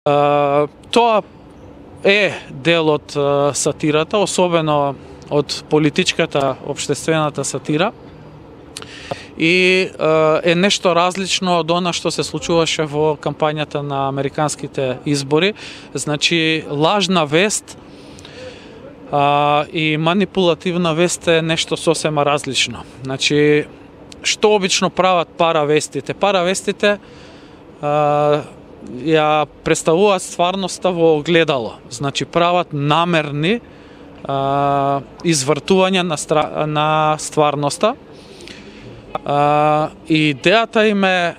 Тоа е дел од сатирата, особено од политичката општествената сатира, и е нешто различно од она што се случуваше во кампањата на американските избори. Значи, лажна вест и манипулативна вест е нешто сосема различно. Значи, што обично прават паравестите? Паравестите ја представуваат стварноста во огледало. Значи, прават намерни извртувања на стварноста. И идејата им е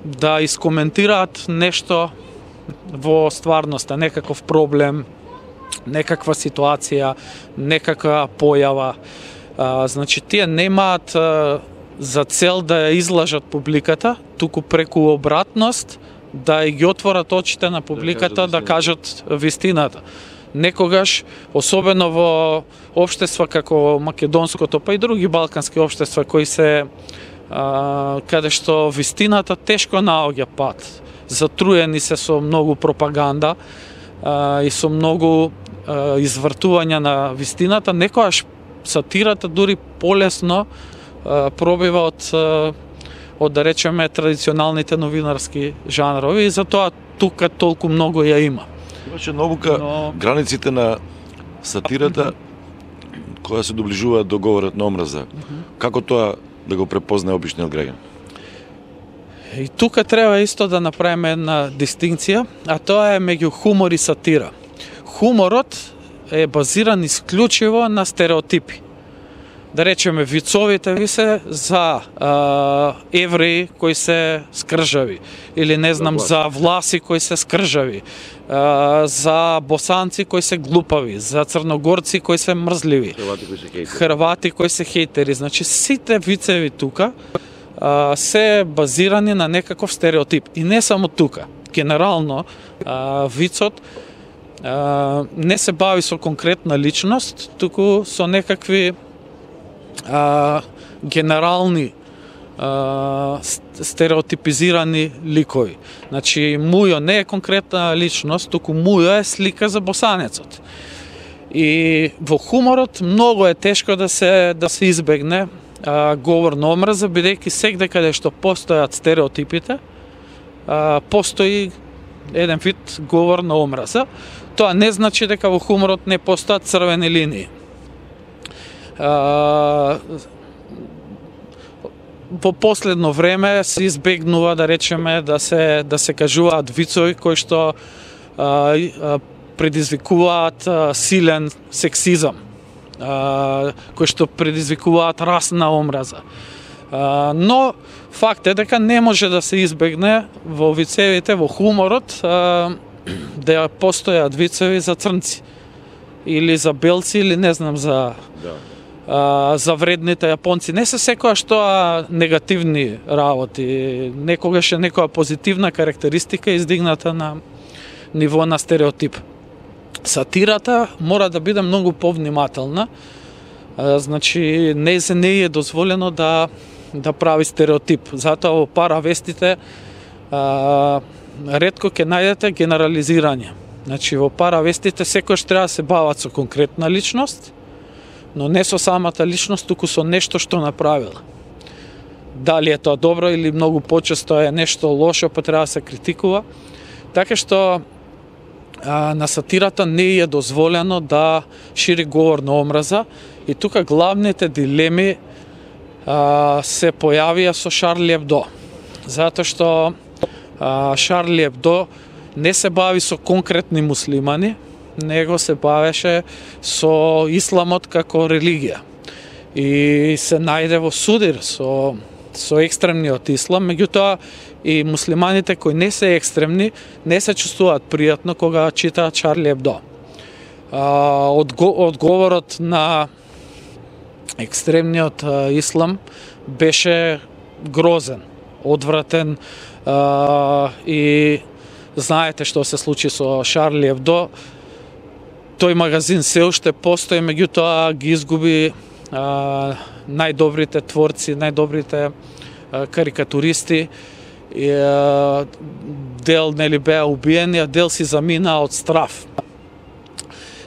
да искоментираат нешто во стварноста, некаков проблем, некаква ситуација, некаква појава. Значи, тие немаат за цел да ја излажат публиката, туку преку обратност да ги отворат очите на публиката, да кажат вистината. Некогаш, особено во општества како македонското, па и други балкански општества кои се каде што вистината тешко наоѓа пат. Затруени се со многу пропаганда и со многу извртувања на вистината, некогаш сатирата дури полесно пробива од да речеме традиционалните новинарски жанрови, и затоа тука толку многу ја има. Имаше наука границите на сатирата која се доближува до говорот на омраза. Како тоа да го препознае обичниот граѓан? И тука треба исто да направиме една дистинкција, а тоа е меѓу хумор и сатира. Хуморот е базиран исклучиво на стереотипи. Да речеме, вицовите ви се за евреи кои се скржави, или не знам, за власи кои се скржави, за босанци кои се глупави, за црногорци кои се мрзливи, хрвати кои се хейтери. Значи, сите вицеви тука се базирани на некаков стереотип. И не само тука. Генерално, вицот не се бави со конкретна личност, туку со некакви генерални стереотипизирани ликови. Значи, Мујо не е конкретна личност, туку Мујо е слика за босанецот. И во хуморот многу е тешко да се избегне говор на омраза, бидејќи сегде каде што постојат стереотипите, постои еден вид говор на омраза. Тоа не значи дека во хуморот не постојат црвени линии. Во последно време се избегнува, да речеме, да се кажуваат вицови кои што предизвикуваат силен сексизам, кои што предизвикуваат расна омраза. Но факт е дека не може да се избегне во вицевите, во хуморот, да постојат вицеви за црнци или за белци, или не знам, за вредните јапонци. Не се секојаш тоа негативни работи, некогаш е некоја позитивна карактеристика издигната на ниво на стереотип. Сатирата мора да биде многу повнимателна, значи не е дозволено да прави стереотип. Затоа во паравестите ретко ќе најдете генерализирање. Значи во паравестите секојаш треба да се бават со конкретна личност, но не со самата личност, туку со нешто што направила. Дали е тоа добро или многу почесто е нешто лошо, па треба да се критикува. Така што на сатирата не е дозволено да шири говор на омраза, и тука главните дилеми се појавија со Шарли Ебдо. Затоа што Шарли Ебдо не се бави со конкретни муслимани, него се бавеше со исламот како религија. И се најде во судир со екстремниот ислам, меѓутоа и муслиманите кои не се екстремни не се чувствуваат пријатно кога читаат Шарли Ебдо. Одговорот на екстремниот ислам беше грозен, одвратен, и знаете што се случи со Шарли Ебдо. Тој магазин се уште постои, меѓутоа ги изгуби најдобрите творци, најдобрите карикатуристи, дел нели беа убиени, а дел си замина од страв.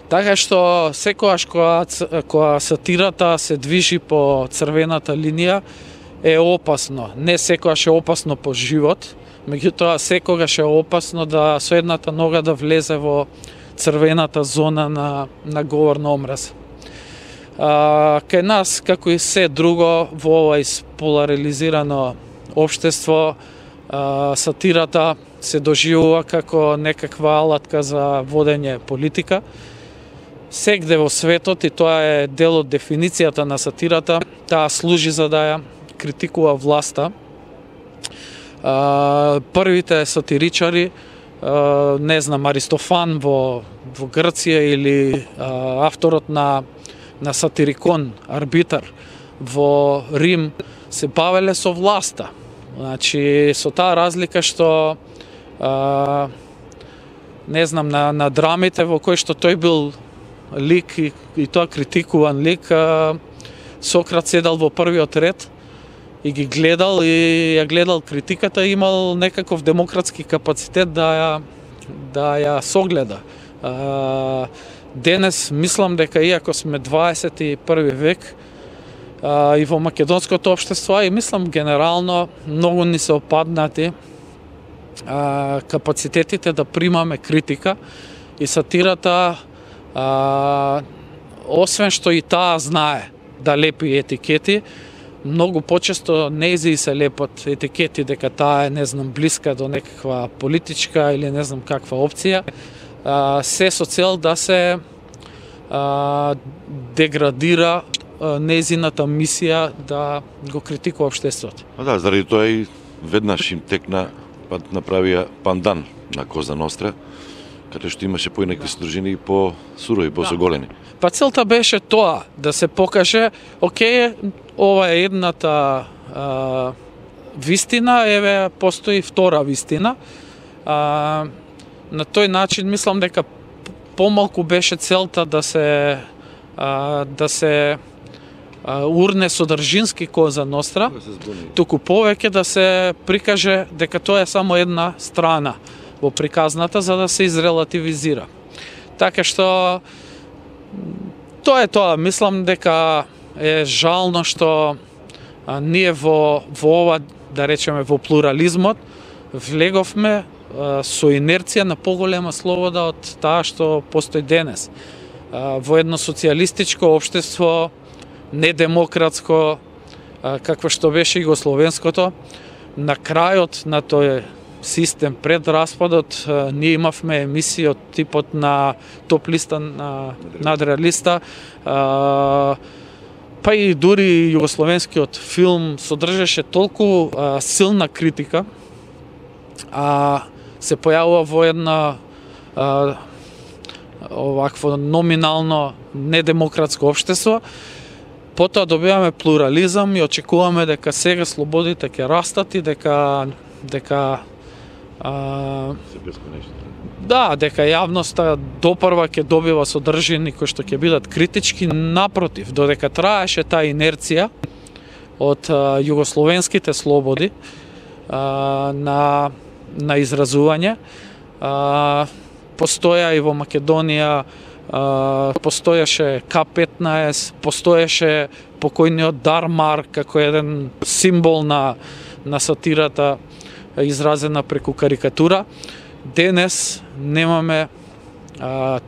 Така што секогаш кога сатирата се движи по црвената линија е опасно. Не секогаш е опасно по живот, меѓутоа секогаш е опасно да со едната нога да влезе во црвената зона на говор на омраза. Кај нас, како и се друго во ова изполаризирано општество, сатирата се доживува како некаква алатка за водење политика. Сегде во светот, и тоа е дел од дефиницијата на сатирата, таа служи за да ја критикува власта. Првите сатиричари, не знам, Аристофан во Грција или авторот на Сатирикон, Арбитар во Рим, се бавеле со власта. Значи, со таа разлика што не знам, на драмите во кои што тој бил лик и тоа критикуван лик, Сократ седал во првиот ред и ги гледал и ја гледал критиката и имал некаков демократски капацитет да ја согледа. Денес мислам дека иако сме 21 век и во македонското општество, и мислам генерално многу ни се опаднати капацитетите да примаме критика, и сатирата освен што и таа знае да лепи етикети, многу почесто нејзи се лепат етикети дека таа е, не знам, блиска до некаква политичка или не знам каква опција, се со цел да се деградира нејзината мисија да го критикува општеството. Да, заради тоа и веднаш им текна, па направија пандан на Коза Ностра, каде што имаше поинакви содржини и по-сурови, по-соголени. Па целта беше тоа, да се покаже, окей, ова е едната вистина, еве постои втора вистина. На тој начин мислам дека помалку беше целта да се урне содржински Коза Ностра, туку повеќе да се прикаже дека тоа е само една страна во приказната, за да се изрелативизира. Така што тоа е тоа. Мислам дека е жално што ние во ова, да речеме, во плурализмот влеговме со инерција на поголема слобода од таа што постои денес. Во едно социјалистичко општество, недемократско, какво што беше Југословенското, на крајот на тој систем пред распадот, ние имавме емисии од типот на топ листа, надреалиста, па и дури југословенскиот филм содржеше толку силна критика, се појавува во една овакво номинално недемократско општество. Потоа добиваме плурализам и очекуваме дека сега слободите ќе растат и дека дека јавноста допрва ќе добива содржини кои што ќе бидат критички. Напротив, додека траеше таа инерција од југословенските слободи на изразување, постоја и во Македонија, постоеше К-15, постоеше покојниот Дармар како еден символ на сатирата изразена преку карикатура. Денес немаме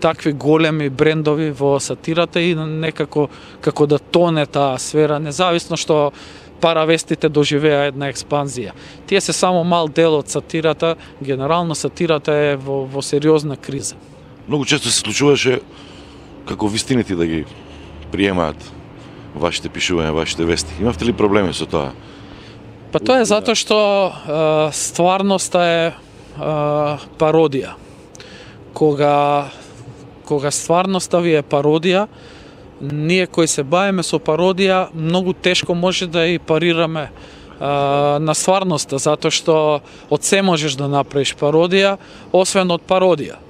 такви големи брендови во сатирата и некако како да тоне таа сфера, независно што паравестите доживеа една експанзија. Тие се само мал дел од сатирата, генерално сатирата е во сериозна криза. Многу често се случуваше како вистините да ги приемаат вашите пишувања, вашите вести. Имавте ли проблеми со тоа? Па тоа е затоа што стварноста е пародија. Кога стварноста ви е пародија, ние кои се бавиме со пародија, многу тешко може да и парираме на стварноста, затоа што од се можеш да направиш пародија, освен од пародија.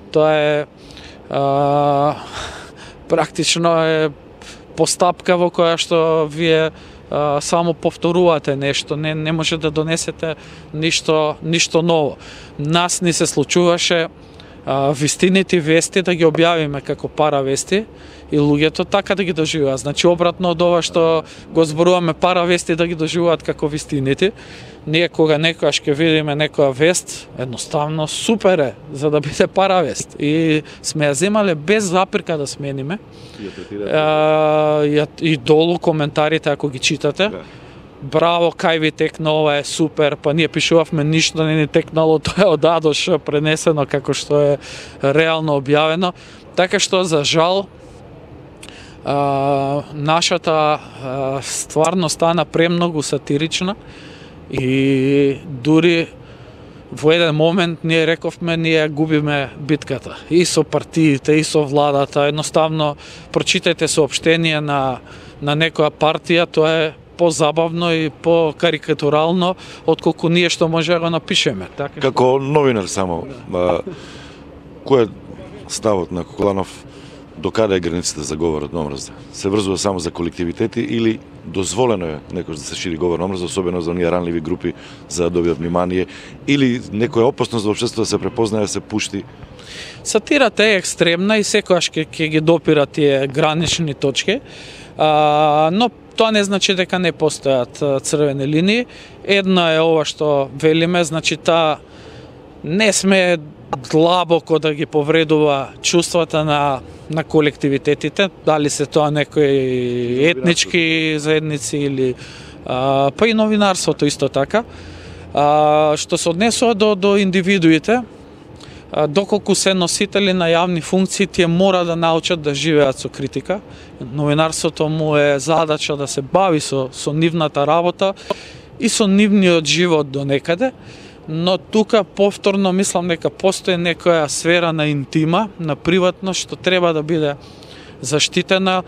Тоа е практично е постапка во која што вие само повторувате нешто, не може да донесете ништо ново. Нас ни се случуваше вистините вести да ги објавиме како паравести и луѓето така да ги доживуваат. Значи обратно од ова што го зборуваме паравести да ги доживуваат како вистините. Ние кога некогаш ќе видиме некоја вест, едноставно супер е за да биде паравест. И сме ја земале без запирка да смениме. И долу коментарите ако ги читате. Браво, кај ви текна, ова е супер, па ние пишувавме ништо не ни текнало, тоа е од А до Ш пренесено како што е реално објавено. Така што за жал нашата стварност стана премногу сатирична и дури во еден момент ние рековме ние губиме битката и со партиите и со владата. Едноставно прочитајте соопштение на некоја партија, тоа е позабавно и покарикатурално отколку ние што може да го напишеме. Така како новинар само, кој е ставот на Кокоданов, до каде е границата за говорот на омраза? Се врзува само за колективитети или дозволено е некој да се шири говор на омраза, особено за оние ранливи групи за да добијат внимание, или некоја опасност за општеството да се препознае, да се пушти? Сатирата е екстремна и секогаш ќе ги допира тие гранични точки, но тоа не значи дека не постојат црвени линии. Една е ова што велиме, значи таа не сме длабоко да ги повредува чувствата на колективитетите, дали се тоа некои етнички заедници или па и новинарството исто така. Што се однесува до индивидуите, доколку се носители на јавни функции, тие мора да научат да живеат со критика. Новинарството му е задача да се бави со нивната работа и со нивниот живот до некаде, но тука повторно мислам дека постои некоја сфера на интима, на приватност што треба да биде заштитена.